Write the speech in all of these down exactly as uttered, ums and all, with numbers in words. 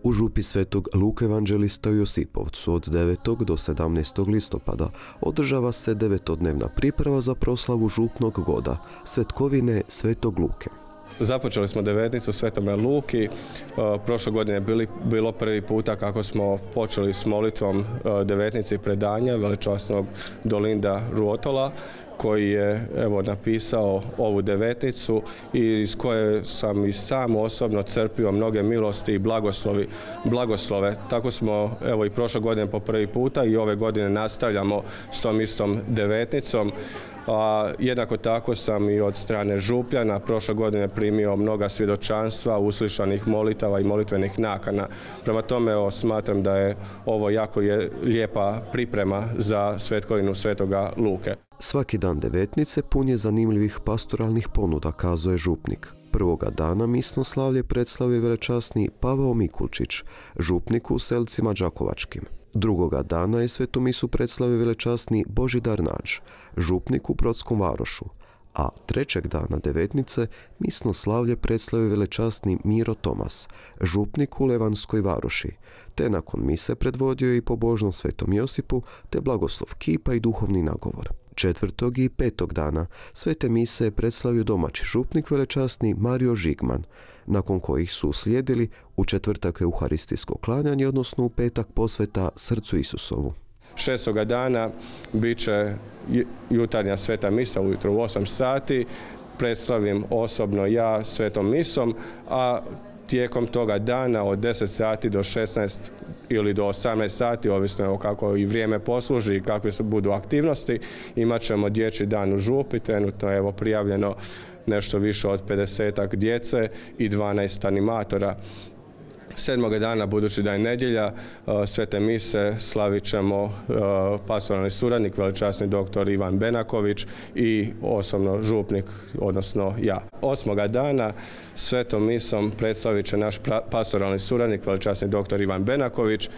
U župi Svetog Luke Evanđelista u Josipovcu od devetog do sedamnaestog listopada održava se devetodnevna priprava za proslavu župnog goda, Svetkovine Svetog Luke. Započeli smo devetnicu u Svetome Luki. Prošle godine je bili, bilo prvi puta kako smo počeli s molitvom devetnici predanja veličasnog Dolinda Ruotola, koji je evo napisao ovu devetnicu i iz koje sam i sam osobno crpio mnoge milosti i blagoslovi, blagoslove. Tako smo evo i prošle godine po prvi puta i ove godine nastavljamo s tom istom devetnicom. A jednako tako sam i od strane župljana prošle godine primio mnoga svjedočanstva, uslišanih molitava i molitvenih nakana. Prema tome evo, smatram da je ovo jako je lijepa priprema za Svetkovinu Svetoga Luke. Svaki dan devetnice pun je zanimljivih pastoralnih ponuda, kazuje župnik. Prvoga dana misno slavlje predstavio velečasni Pavao Mikulčić, župnik u Selcima Đakovačkim. Drugoga dana je svetu misu predstavio velečasni Božidar Nađ, župnik u Brodskom Varošu, a trećeg dana devetnice misno slavlje predstavio velečasni Miro Tomas, župnik u Levanskoj Varoši, te nakon mise predvodio i pobožno Svetom Josipu, te blagoslov kipa i duhovni nagovor. Četvrtog i petog dana svete mise je predstavio domaći župnik velečasni Mario Žigman, nakon kojih su slijedili u četvrtak euharistijsko klanjanje, odnosno u petak posveta srcu Isusovu. Šestoga dana bit će jutarnja sveta misa ujutro u osam sati, predstavim osobno ja svetom misom, a tijekom toga dana od deset sati do šesnaest ili do osamnaest sati, ovisno o kako i vrijeme posluži i kakve su budu aktivnosti, imat ćemo dječji dan u župi, trenutno je evo prijavljeno nešto više od pedesetak djece i dvanaest animatora. Sedmoga dana, budući da je nedjelja, svete mise slavit ćemo pastoralni suradnik, velečasni doktor Ivan Benaković i osobno župnik, odnosno ja. Osmoga dana svetom misom predstavit će naš pastoralni suradnik, velečasni doktor Ivan Benaković,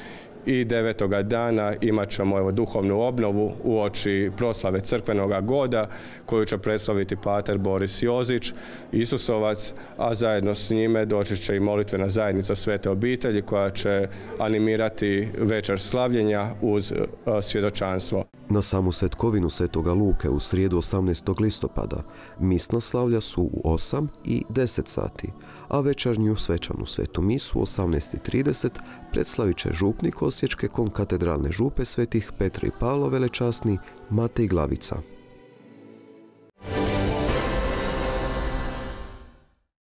i devetoga dana imat ćemo evo, duhovnu obnovu uoči proslave crkvenoga goda koju će predstaviti pater Boris Jozić, Isusovac, a zajedno s njime doći će i molitvena zajednica Svete obitelji koja će animirati večer slavljenja uz uh, svjedočanstvo. Na samu Svetkovinu Svetoga Luke u srijedu osamnaestog listopada misna slavlja su u osam i deset sati, a večernju svečanu svetu misu u osamnaest i trideset predstavit će župnik Osječke konkatedralne župe svetih Petra i Pavla velečasni Matej Glavica.